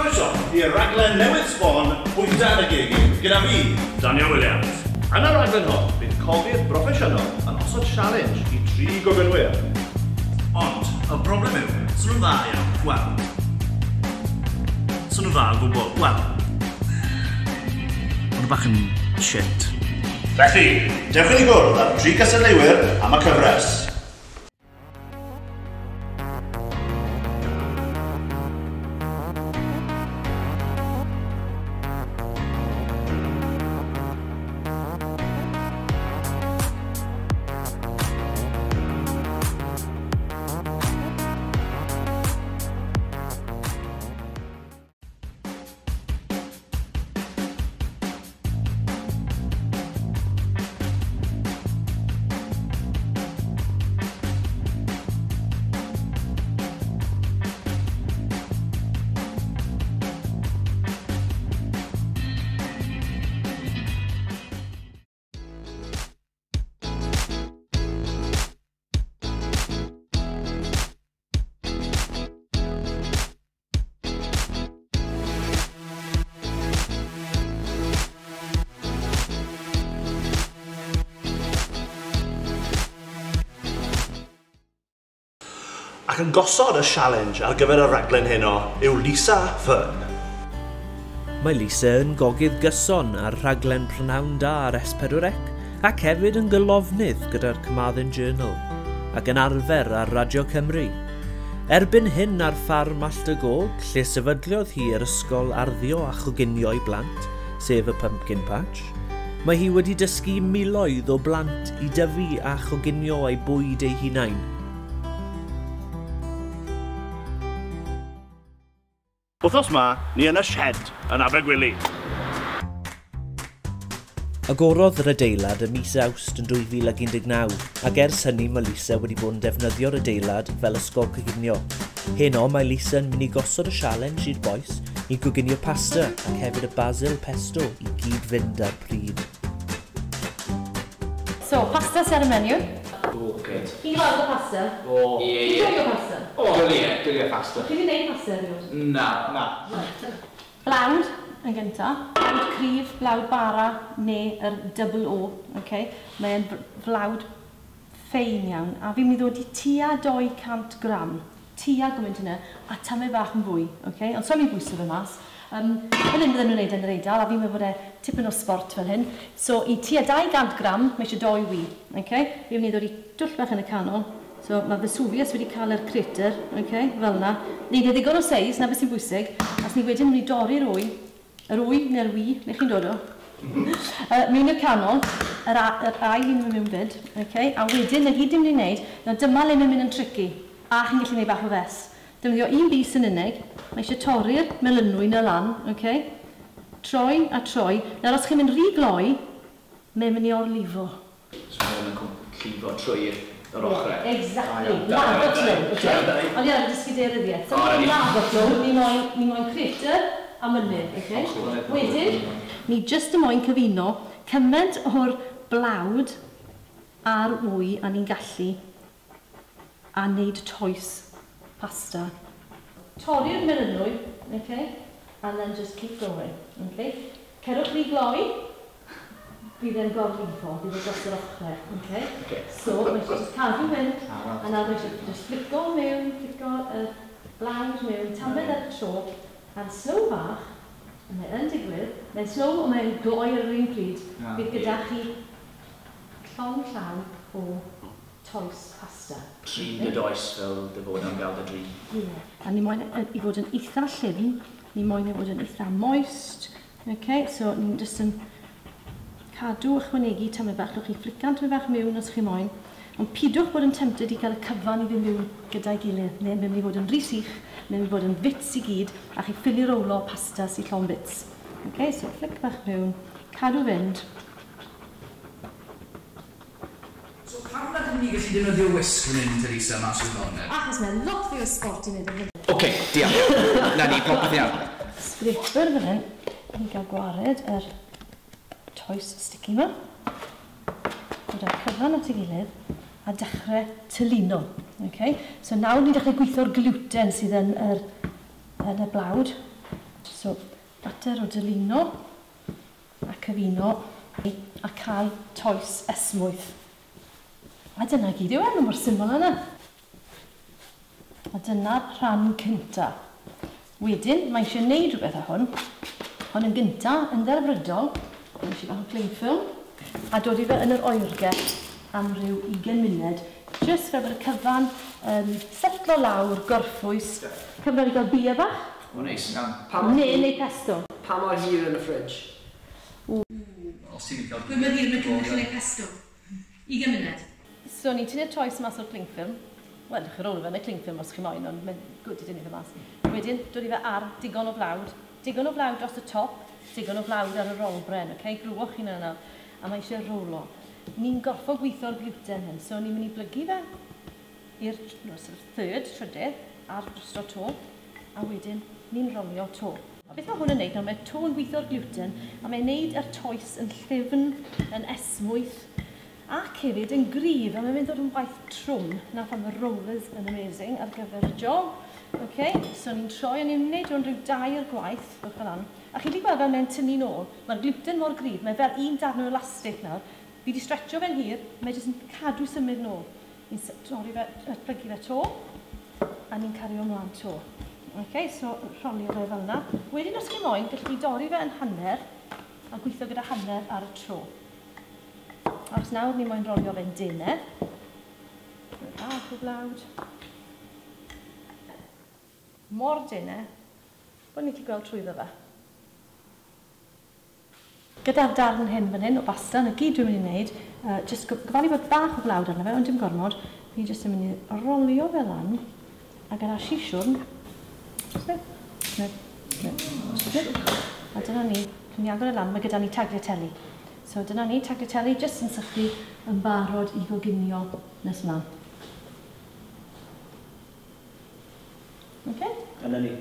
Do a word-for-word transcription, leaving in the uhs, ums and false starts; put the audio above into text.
Croeso i'r raglen newydd sbon Bwyta yn y Gegin gyda fi, Daniel Williams. Yn y raglen hon, bydd cogydd broffesiynol yn osod challenge i tri gogynwyr. Ond, y broblem yw, sy'n nhw'n dda iawn, wel. Sy'n nhw'n dda o gwbl, wel. Ond bach yn shit. Felly, dewch i ni gwrdd â'r tri cystadleuwyr am y cyfres. Ac yn gosod y challenge ar gyfer y raglen heno yw Lisa Fearn. Mae Lisa yn gogydd gyson ar rhaglen Prynhawn Da ar S pedwar C ac hefyd yn gylofnydd gyda'r Carmarthen Journal ac yn arfer ar Radio Cymru. Erbyn hyn ar ffarm Allt y Gog, lle sefydliodd hi yr ysgol arddio a choginio i blant, sef y Pumpkin Patch, mae hi wedi dysgu miloedd o blant i dyfu a choginio eu bwyd eu hunain. Wythnos ma, ni yn y shed yn Abergwili. Agorodd yr adeilad ym mis Awst yn dwy fil ag un deg naw, ac ers hynny mae Lisa wedi bod yn defnyddio'r adeilad fel ysgol coginio. Heno mae Lisa yn mynd i gosod y sialens i'r bois i goginio pasta ac hefyd y basil pesto i gyd fynd ar pryd. So, pasta sy'n ar y menu. O, good. Chi'n gweld y pasta? O. Ie, ie. Chi'n joio pasta? O, dwli, dwli pasta. Chi wedi gwneud pasta erioed? Na, na. Blawd yn gynta. Blawd cryf, blawd bara, neu yr double O. Okay? Mae'n flawd ffein iawn. A fi'n mynd i ddod i tua dau cant gram. Tua gymaint yna, a tamed bach yn fwy. Okay? Ond so mi'n bwyso fe mas. Um, fel hyn bydden nhw'n gwneud yn yr Eidal, a fi'n meddwl bod e tipyn o sport fel hyn. So, i tua dau gant gram, mae eisiau doi wy. Okay? Fi'n mynd i ddod i dwll bach yn y canol. So, mae Vesuvius wedi cael yr crater, okay? Fel yna. Neud e ddigon o seis, na beth sy'n bwysig. As ni wedyn mynd i dorri'r wy, yr wy neu'r wy, neu chi'n dod o. uh, mewn i'r canol, yr, yr ail un mewn fyd. Okay? A wedyn, na gyd dim mynd i wneud, na dyma le mae'n mynd yn tricky. A chi'n gallu gwneud bach o fes. Defnyddio un bys yn unig, mae eisiau torri'r melynwy na lan, okay? Troi a troi. Nawr os chi'n mynd rhy gloi, mae'n mynd i orlifo. So mae'n yn llifo trwy'r yr ochrau. Exactly. Lava flow, okay? Ond ie, dysgu daearyddiaeth. So ni'n lava flow, ni moyn, ni moyn crater a mynydd, okay? Wedyn, ni jyst y moyn cyfuno cymaint o'r blawd a'r wy a ni'n gallu a wneud toes pasta. Torri'r melynwy, okay? And then just keep going, okay? Cerwch rhy gloi, bydd e'n gorlifo, bydd e dros yr ochrau, okay? Okay. So, mae eisiau just cadw fynd, a nawr mae eisiau just flico mewn, flico y blawd mewn, tamed ar y tro, a'n slow bach, a mae yn digwydd, mae'n slow ond mae'n gloi ar yr un pryd, bydd gyda chi llond llaw o toes pasta. Trin dy does fel dy fod am gael dy drin. Ie. A ni moyn i fod yn eitha llyfn, ni moyn i fod yn eitha moist. Okay, so ni'n jyst yn cadw ychwanegu tamed bach. Lwch chi flican tamed bach mewn os chi moyn. Ond pidwch bod yn tempted i gael y cyfan i fynd mewn gyda'i gilydd. Neu mae'n mynd i fod yn rhy sych, mae'n mynd i fod yn fits i gyd, a chi ffili rowlo pasta sy'n llond bits. Okay, so flic bach mewn, cadw fynd. So pam nad ydyn ni gallu defnyddio whisk fan hyn, Teresa, mas o'r ddoned? Achos mae'n lot fwy o sport i wneud yn hyn. Oce, diolch. Na ni, popeth iawn. Scraper fan hyn, ni'n cael gwared yr toes sticky ma. Dod â'r cyfan at ei gilydd a dechrau tylino. Okay? So nawr ni'n dechrau gweithio'r gluten sydd yn yr, yn y blawd. So, mater o dylino a cyfuno a cael toes esmwyth. A dyna gyd yw e, mor syml yna. A dyna'r rhan cynta. Wedyn, mae eisiau gwneud rhywbeth â hwn. Hwn yn gynta, yn ddelfrydol, mae eisiau bach o cling film, a dod i fe yn yr oergell am ryw ugain munud, jyst fel bod y cyfan um, setlo lawr, gorffwys. Cyfnod i gael bia bach. O, neis. Neu, neu pesto. Pa mor hir yn y fridge? Os ti'n cael... Pwy mor hir yn y cymryd neu pesto? Ugain munud. So, ni'n tynnu'r toes mas o'r cling film. Wel, chi rôl fe yn y cling film os chi moyn, ond mae'n gwd i dynnu fe mas. Wedyn, dod i fe ar digon o flawd. Digon o flawd dros y top, digon o flawd ar y rolbren, okay? Glywch chi'n yna. A mae eisiau rolo. Ni'n gorffo gweithio'r gluten hyn, so ni'n mynd i blygu fe i'r no, sort of third, trydydd, ar drosto to, a wedyn ni'n rolio to. A beth mae hwn yn neud nawr, mae to yn gweithio'r gluten, a mae'n neud yr toes yn llyfn, yn esmwyth, ac hefyd yn gryf, a mae'n mynd ddod yn waith trwm. Na pam y rollers yn amazing ar gyfer y job. Okay, so ni'n troi a ni'n gwneud hwn rhyw dair gwaith, fel lan. A chi wedi gweld fel mae'n tynnu nôl, mae'r gluten mor gryf, mae fel un darn o elastig nawr. Fi wedi stretcho fe'n hir, mae jyst yn cadw symud nôl. Ni'n torri fe, plygu fe to, a ni'n cario ymlaen to. Okay, so rholio fe fel yna. Wedyn os chi moyn, gallwch chi dorri fe yn hanner, a gweithio gyda hanner ar y tro. Os nawr ni moyn rolio fe'n denau. Bach o blawd. Mor denau, bod ni'n gallu gweld trwyddo fe. Gyda'r darn hyn fan hyn o basta, na gyd dwi'n mynd i wneud, uh, jyst gofalu bod bach o blawd arno fe, ond dim gormod, fi jyst yn mynd i rolio fe lan, a gyda sisiwrn, snip, snip, snip, snip, a dyna ni, dwi'n agor e lan, mae gyda ni tagliatelle. So dyna ni, tagliatelle jyst yn sychu yn barod i goginio nes mlaen. Okay? Dyna ni.